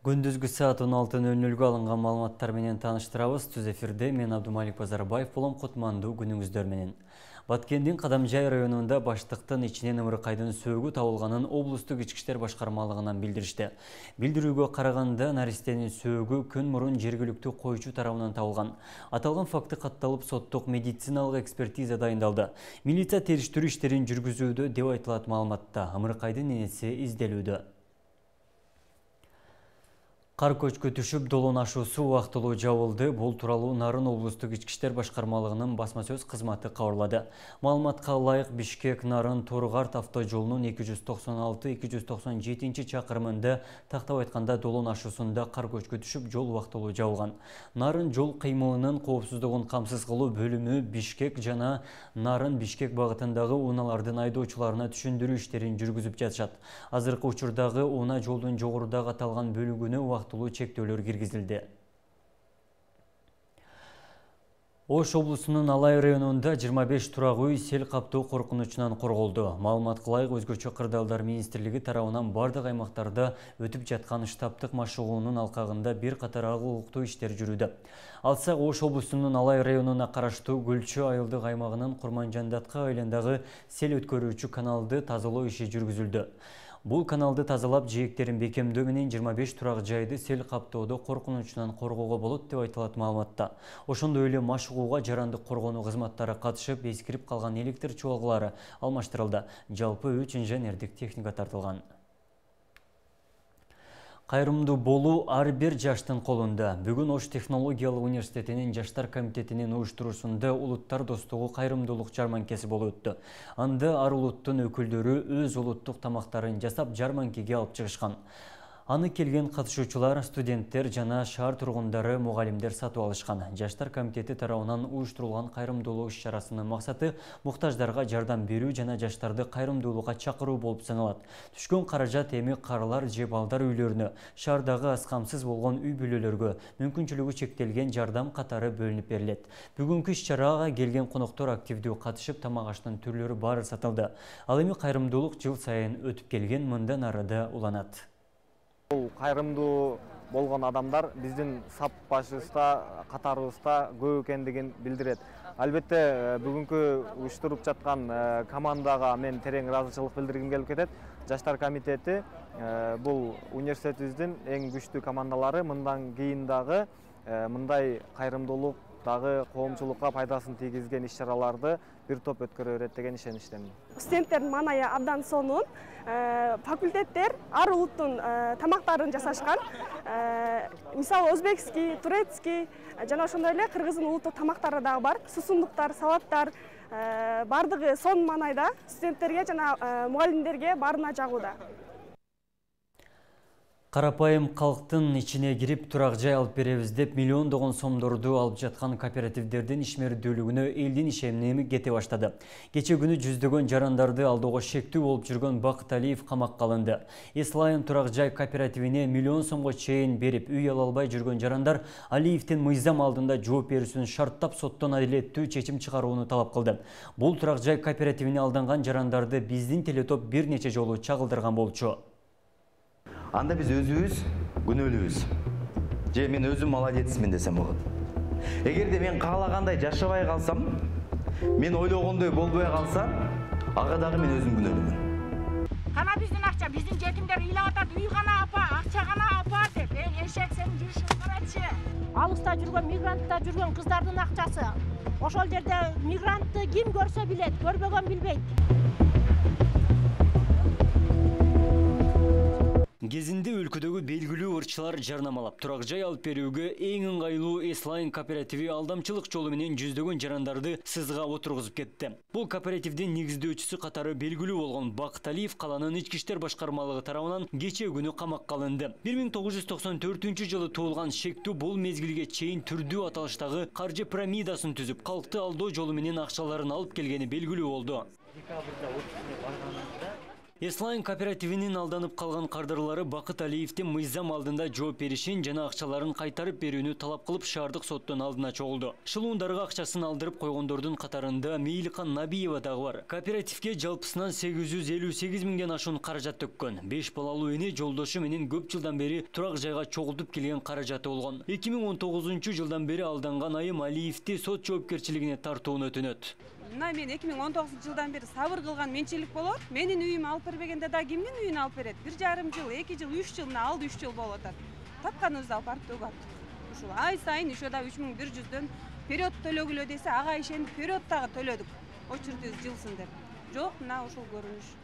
Күндүзгү саат 16:00 алынган маалыматтар менен тааныштырабыз. Түз эфирде мен Абдумалик Базарбаев болом. Кутмандуу күнүңүздөр менен. Баткендин Кадамжай районунда баштыктын ичинен ымыркайдын сөөгү табылганын облустук ички иштер башкармалыгынан билдиришти. Билдирүүгө караганда наристенин сөөгү күн мурун жергиликтүү койчу тарабынан табылган. Аталган факты катталып, соттук медициналык экспертиза дайындалды. Милиция териштирүү иштерин жүргүзүүдө деп айтылат маалыматта. Ымыркайдын энеси изделүүдө. Кар көчкү түшүп, долоон ашуусу убактылуу жабылды. Бул тууралуу Нарын облустук ички иштер башкармалыгынын басма сөз кызматы кабарлады. Маалыматка ылайык, Бишкек-Нарын Торгарт автожолунун 296-297 чакырымында тактап айтканда долоон ашуусунда кар көчкү түшүп, жол убактылуу жабылган. Нарын жол кыймылынын коопсуздугун камсыз кылуу бөлүмү Бишкек жана Нарын Бишкек багытындагы унаалардын айдоочуларына түшүндүрүү иштерин жүргүзүп жатышат. Азыркы учурдагы уна жолдун жогорудагы аталган бөлүгүнө убактылуу чектөөлөр киргизилди. Ош облусунун Алай районунда 25 турак үй сел каптоо коркунучунан корголду. Маалыматка ылайык, өзгөчө кырдаалдар министрлиги тарабынан бардык аймактарда өтүп жаткан штабтык машыгуунун алкагында бир катар агылыктуу иштер жүрүүдө. Алсак, Ош облусунун Алай районуна караштуу Гүлчү айылдык аймагынын Курманжандатка айландагы сел өткөрүүчү каналды тазалоо иши жүргүзүлдү. Бул каналды тазалап, жээктерин бекемдөө менен 25 турак жайды сел каптоодо коркунучунан коргоого болот деп айтылат маалыматта. Ошондой эле машыгууга жарандык коргонуу кызматтары катышып, эскирип калган электр чуалгалары алмаштырылды. Жалпы 3 инженердик техника тартылган. Кайрымдуу болуу ар бир жаштын колунда. Бүгүн Ош технологиялык университетинин жаштар комитетинин уюштуруусунда улуттар достугу кайрымдуулук жарманкеси болуп өттү. Анда ар улуттун өкүлдөрү өз улуттук тамактарын жасап, жарманкеге алып чыгышкан. Аны келген катышуучулар, студенттер жана шаар тургундары, мугалимдер сатып алышкан. Жаштар комитети тарабынан уюштурулган кайрымдуулук иш-чарасынын максаты муктаждарга жардам берүү жана жаштарды кайрымдуулукка чакыруу болуп саналат. Түшкөн каражат эми карылар же балдар үйлөрүнө, шаардагы аз камсыз болгон үй бүлөлөргө мүмкүнчүлүгү чектелген жардам катары бөлүнүп берилет. Бүгүнкү иш-чарага келген коноктор активдүү катышып, тамак аштын түрлөрү баары сатылды. Ал эми кайрымдуулук жыл сайын өтүп келген, мындан ары да уланат. Бул кайрымдуу болгон адамдар биздин сап башыбызда, катарыбызда көп экендигин билдирет. Албетте, бүгүнкү уюштуруп жаткан командага мен терең ыраазычылык билдиргим келип кетет. Жаштар комитети бул университетибиздин эң күчтүү командалары. Мындан кийин дагы мындай кайрымдуулук дагы коомчулукка пайдасын тийгизген иш-чараларды бир топ өткөрө берет деген ишеничтемин. Студенттердин маанайы абдан сонун. Факультеттер ар улуттун тамактарын жасашкан. Мисалы, өзбекский, турецкий жана ошондой эле кыргыздын улуттук тамактары дагы бар. Сусундуктар, салаттар бардыгы сонун маанайда студенттерге жана мугалимдерге баарына жагууда. Карапайым калктын ичине кирип турак жай алып беребиз деп миллиондогон сомдорду алып жаткан кооперативдердин ишмердүүлүгүнө элдин ишеними кете баштады. Кече күнү жүздөгөн жарандарды алдоого шектүү болуп жүргөн Бакыт Алиев камакка алынды. Эслайым турак жай кооперативине миллион сомго чейин берип, үй ала албай жүргөн жарандар Алиевдин мыйзам алдында жооп берүүсүн шарттап, соттон адилеттүү чечим чыгарууну талап кылды. Бул турак жай кооперативине алданган жарандарды биздин телетоп бир нече жолу чагылдырган болчу. Анда биз өзүбүз күнөөлүүбүз. Же мен өзүм молодецмин десем болот. Эгерде мен каалагандай жашабай калсам, мен ойлогондой болбой калса, ага дагы мен өзүм күнөөлүүмүн. Кана биздин акча, биздин жетимдер ыйлап атат, үй гана апа, акча гана апа деп. Эшек сенин жүрүшүң карачы. Алыста жүргөн, мигрантта жүргөн кыздардын акчасы. Ошол жерде мигрантты ким көрсө билет, көрбөгөн билбейт. Кезинде өлкөдөгү белгилүү ырчылар жарнамалап, турак жай алып берүүгө эң ыңгайлуу Эслайн кооперативи алдамчылык жолу менен жүздөгөн жарандарды сызга отургузуп кетти. Бул кооперативдин негиздөөчүсү катары белгилүү болгон Бакыт Алиев каланын ички иштер башкармалыгы тарабынан кече күнү камакка алынды. 1994-жылы туулган шектүү бул мезгилге чейин түрдүү аталыштагы каржы пирамидасын түзүп, калкты алдоо жолу менен акчаларын алып келгени белгилүү болду. Декабрда отпускне барганымызда Eslайн кооперативинин алданып калган кардарлары Бакыт Алиевдин мыйзам алдында жооп беришин жана акчаларын кайтарып берүүнү талап кылып шаардык соттун алдына чогулду. Шылуундарга акчасын алдырып койгондордун катарында Мейликан Набиева дагы бар. Кооперативге жалпысынан 858 миңден ашуун каражат төккөн. 5 балалуу эне жолдошу менен көп жылдан бери турак жайга чогултуп келген каражаты болгон. 2019 жылдан бери алданган айым Алиевди сот жоопкерчилигине тартууну өтүнөт. Мына мен 2019 жылдан бери сабыр кылган менчилик болот. Менин үйүм алып бербегенде да кимдин үйүн алып берет? 1,5 жыл, 2 жыл, 3 жыл, мына алды 3 жыл болуп атат. Тапканыбызды алып барып төгүп аттык. Ушул ай сайын ошо да 3100дөн период төлөгүлө десе, ага ишенип период дагы төлөдүк. Очередибиз жылсын деп. Жок, мына ушул көрүнүш.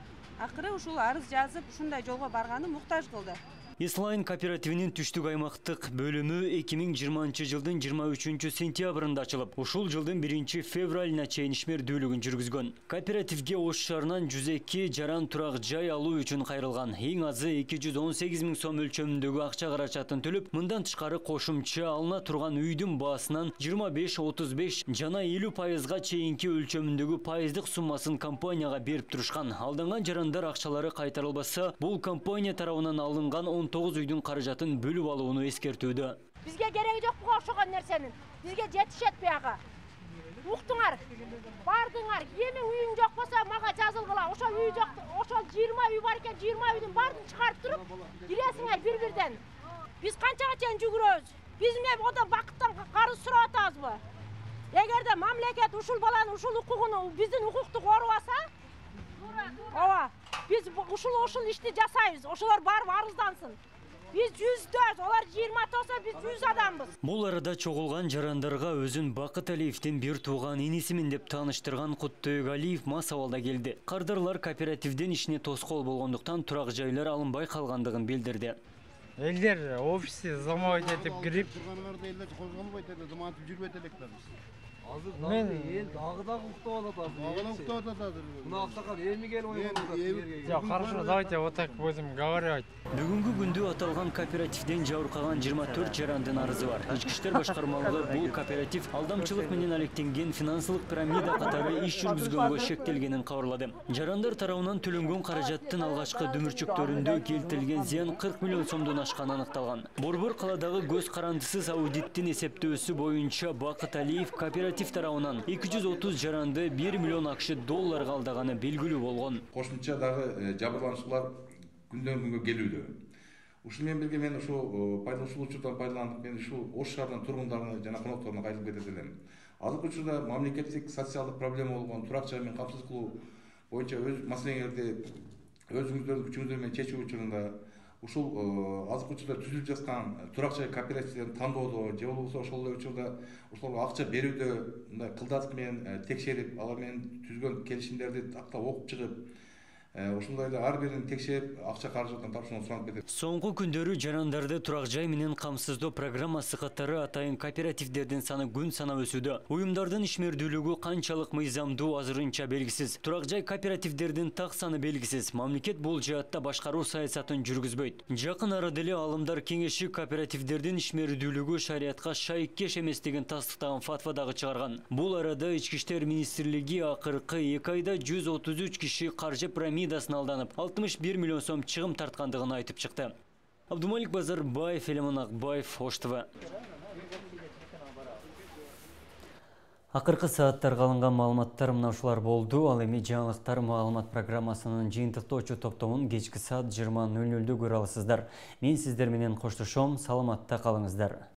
Акыры ушул арыз жазып, ушундай жолго барганы муктаж кылды. Eslайн кооперативинин түштүк аймактык бөлүмү 2020 жылдын 23 сентябрында ачылып, ушул жылдын 1 февралына чейин ишмердүүлүгүн жүргүзгөн. Кооперативге Ош шаарынан 102 жаран турак жай алуу үчүн кайрылган. Эң азы 218 миң сом өлчөмүндөгү акча каражатын төлөп, мындан тышкары кошумча алына турган үйдүн баасынан 25-35 жана 50%га чейинки өлчөмүндөгү пайыздык суммасын компанияга берип турушкан. Алданган жарандар акчалары кайтарылбаса, бул компания тарабынан алынган 19 үйдүн каражатын бөлүп алууну эскертүүдө. Бизге кереги жок буга окшогон нерсенин. Бизге жетишет буяга. Уктуңар, бардыңар. Эми үйүң жок болсо мага жазылгыла. Ошо үй жок, ошо 20 үй бар экен, 20 үйдүн баарын чыгарып туруп, киресиңер бир-бирден. Биз канчага чейин жүгүрөбүз? Биз эмне одан бакыттан карыз сурап атабызбы? Эгерде мамлекет ушул баланын ушул укугун, биздин укукту корубаса, ооба, биз ушул ишти жасайбыз. Ошолор барып арыздансın. Biz 104, олар 20 болсо биз 100 адамбыз. Бул арада чогулган жарандарга өзүн Бакыт Алиевдин бир тууган инисимин деп тааныштырган Куттөйүк Алиев масабалда келди. Кардарлар кооперативдин ишине тоскоол болгондуктан турак жайлар алынбай калгандыгын билдирди. Элдер офисти замабайт этип кирип, тургандарда элдер козголбойт эле, замантип жүрбөйт элекпиз. мен Дагы уктап атат. Мына аксакал эми келип ойгонуп атат. Хорошо, давайте вот так будем говорить. Бүгүнкү күндө аталган кооперативден жабыркаган 24 жарандын арызы бар. Ички иштер башкармалыгы бул кооператив алдамчылык менен алектенген финансылык пирамида катары иш жүргүзгөнгө шектелгенин кабарлады. Жарандар тарабынан төлөнгөн каражаттын алгачкы дүмүрчүктөрүндө келтирилген зыян 40 миллион сомдон ашканы аныкталган. Борбор каладагы көз карандысыз аудиттин эсептөөсү боюнча Бакыт Алиев кооператив тарабынан 230 жаранды 1 миллион акш долларга алдаганы белгилүү болгон. Кошумча дагы жабырлануучулар күндөн күнгө келүүдө. Ушул менен бирге мен ушул учурдан пайдаланып, мен ушул Ош шаарынын тургундарына жана конокторуна кайтып кетет элем. Азыркы учурда мамлекеттик социалдык проблема болгон турак жай менен камсыз кылуу боюнча өз маселеңерди өзүңүздөрдүн күчүңүздөр менен чечүү учурунда ушул азыркы учурда түзүлүп жаткан турак жай кооперативдерин тандоодо же болбосо ошол эле учурда ошолорго акча берүүдө мындай кылдатык менен текшерип, алар менен түзгөн келишимдерди тактап окуп чыгып, ошондой эле ар бирин текшерип акча каражатын тапшырууну суранып кетет. Соңку күндөрү жарандарды турак жай менен камсыздоо программасы катары атайын кооперативдердин саны күн санап өсүүдө. Уюмдардын ишмердүүлүгү канчалык мыйзамдуу азырынча белгисиз. Турак жай кооперативдердин так саны белгисиз. Мамлекет бул жаатта башкаруу саясатын жүргүзбөйт. Жакын арада эле Аалымдар кеңеши кооперативдердин ишмердүүлүгү шариятка шайкеш эместигин тастыктаган фатва дагы чыгарган. Бул арада Ички иштер министрлиги акыркы 2 айда 133 киши каржы пирамидасына алданып, 61 миллион сом чыгым тарткандыгын айтып чыкты. Абдумалик Базарбаев, Элемон Акбаев, Ош ТВ. Акыркы сааттарга алынган маалыматтар мына ушулар болду. Ал эми жаңылыктар маалымат программасынын жыйынтыктоочу топтомун кечки саат 20:00 көрө аласыздар. Мен сиздер менен коштошом. Саламатта калыңыздар.